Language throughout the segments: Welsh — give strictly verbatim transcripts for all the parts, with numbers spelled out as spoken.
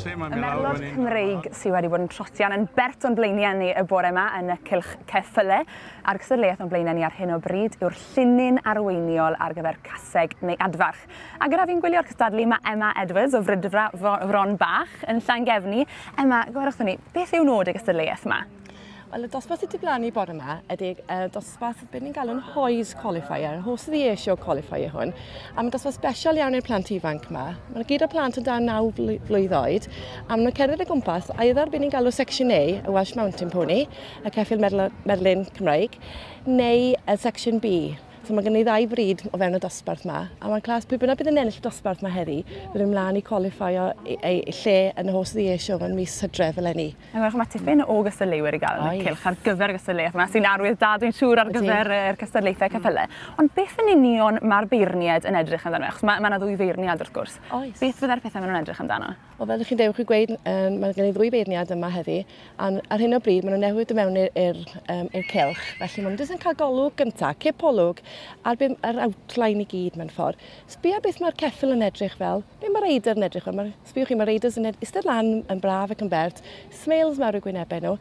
Oes, mae'n Y merlod Cymreig sydd wedi bod yn trotian yn bert o'n blaenau ni y bore yma yn y cylch ceffyle, a'r gystadleuaeth o'n blaenau ni ar hyn o bryd yw'r llinyn arweiniol ar gyfer caseg neu adfarch. A gyda fi'n gwylio'r cystadlu mae Emma Edwards o Fridfa Fron Bach yn Llangefni. Emma, gwerwch ni, beth yw nod y gystadleuaeth yma? Wel, y dosbarth sydd wedi blannu bore yma ydy uh, dosbarth beth ni'n galw'n HOYS Qualifier, Horse of the Year Show Qualifier hwn. A mae'n dosbarth special iawn i'r plant ifanc yma. Mae'n gyd o plant o dan naw flwydd oed, a maen nhw'n cerdded o gwmpas, either beth ni'n galw Section A, y Welsh Mountain Pony, y ceffyl Merlin Cymraeg, neu y Section B. So mae gen i ddau frid o fewn y dosbarth yma, a mae'n clas pwy bynnag bydd yn ennill y dosbarth yma heddi, bydd yn mlaen i qualifio ei, ei lle yn y Horse of the Year Show yn mis Hydref eleni. A gwelwch, mae tipyn o gystadleuwyr i gael yn y cylch ar gyfer y gystadleuaeth yma, sy'n arwydd da, dwi'n siŵr, ar gyfer yr cystadlaethau ceffylau. Ond beth yn union mae'r beirniad yn edrych amdano? Achos mae, mae yna ddwy feirniad wrth gwrs. Oes. Beth fydde'r pethau maen nhw'n edrych amdano? Wel, fel ydych chi'n dewch i gweud, um, mae gen i ddwy beirniad yma heddi, a ar hyn o bryd maen nhw'n newid i mewn i'r um, cylch, felly maen nhw jyst yn cael golwg gyntaf, cipolwg, ar yr outline i gyd mewn ffordd. Sbia beth mae'r ceffyl yn edrych fel, beth mae'r reider yn edrych fel. Mae'r, sbiwch chi, mae'r reiders yn eistedd lan yn braf ac yn bert, smiles mawr i'w gwynebau nhw,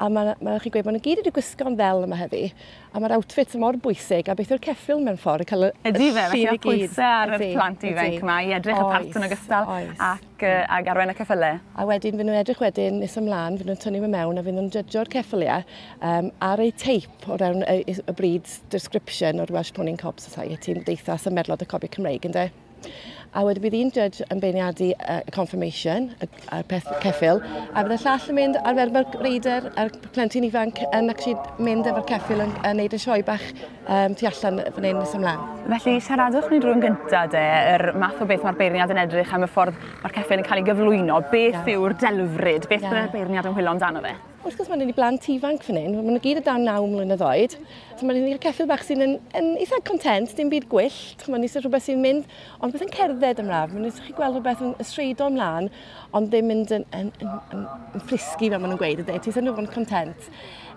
a mae, ma chi'n gweud, maen nhw gyd wedi gwisgo'n ddel yma heddi, a mae'r outfit mor bwysig, a beth yw'r ceffyl mewn ffordd, cael y Ydy fe, felly mae pwysau ar y plant ifanc yma i edrych y part yn ogystal ac, ac arwain y ceffylau. A wedyn, fy nhw'n edrych wedyn nes ymlaen, fy nhw'n tynnu mewn a fy nhw'n judgeo'r ceffyliau um, ar eu teip o ran y, y breed description o'r Welsh Pony and Cob Society, Ymdeithas y Merlod y Cobiau Cymreig, ynde? A wedyn bydd un judge yn beirniadu y conformation, y, y peth ceffyl, a bydd y llall yn mynd ar fel reider a'r plentyn ifanc yn actually mynd efo'r ceffyl yn, yn neud y sioe bach um, tu allan fan hyn nes ymlaen. Felly siaradwch ni drwy'n gyntaf de, yr math o beth mae'r beirniad yn edrych am y ffordd mae'r ceffyl yn cael ei gyflwyno. Beth yeah. yw'r delfryd? Beth yeah. byddai'r beirniad yn chwilio amdano fe? Wrth gwrs, mae'n i blant ifanc fan hyn, maen nhw gyd o dan naw mlynedd oed. So mae'n i'r ceffyl bach sy'n yn, yn eitha content, dim byd gwyllt, mae'n eisiau rhywbeth sy'n mynd, ond beth yn cerdded ymlaen, mae'n eisiau chi gweld rhywbeth yn ystreido ymlaen, ond ddim mynd yn, yn, yn, yn, yn frisky fel maen nhw'n gweud, ydy, ti eisiau nhw fod yn content.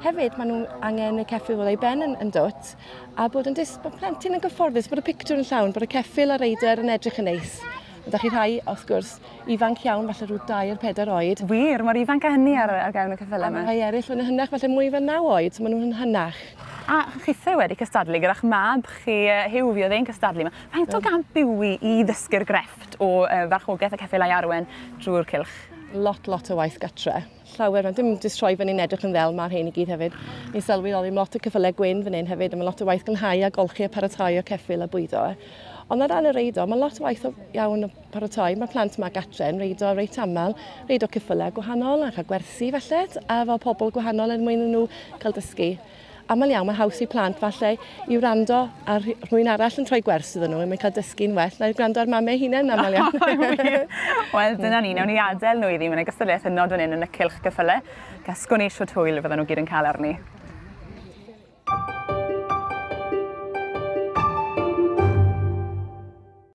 Hefyd, maen nhw angen y ceffyl fod ei ben yn, yn dwt, a bod yn dis, bod plentyn yn gyfforddus, bod y picture yn llawn, bod y ceffyl a'r reider yn edrych yn neis. Ydych chi rhai, wrth gwrs, ifanc iawn, falle rhyw dair, pedair oed. Wir, mor ifanc â hynny ar, ar gefn y ceffylau yma. A mae rhai eraill yn hynach, falle mwy fel naw oed, so maen nhw'n hynach. A chithe wedi cystadlu gyda'ch mab chi, Huw, fi oedd e'n cystadlu yma. Faint o gamp yw i i ddysgu'r grefft o uh, farchogaeth y ceffylau arwen drwy'r cylch? Lot, lot o waith gatre. Llawer, dim jyst troi fyny'n edrych yn ddel, mae'r rhain i gyd hefyd. Ni'n sylweddoli lot o ceffylau gwyn fan hyn hefyd, a mae lot o waith glanhau a golchi a paratoi o ceffyl a bwydo. Ond ar ran y reido, mae lot o waith o iawn o paratoi. Mae plant yma gatre yn reido reit aml, reido ceffylau gwahanol a cael gwersi falle, a fel pobl gwahanol er mwyn nhw cael dysgu. Aml iawn, mae haws i plant falle i wrando ar rhywun arall yn troi gwers iddyn nhw, a mae'n cael dysgu'n well na i gwrando ar mamau hunain aml iawn. Wel, dyna ni, nawn ni adael nhw iddi, mae'n gystadleuaeth hynod fan hyn yn y cylch ceffylau. Gasgwn ni shwt hwyl fydden nhw gyd yn cael arni.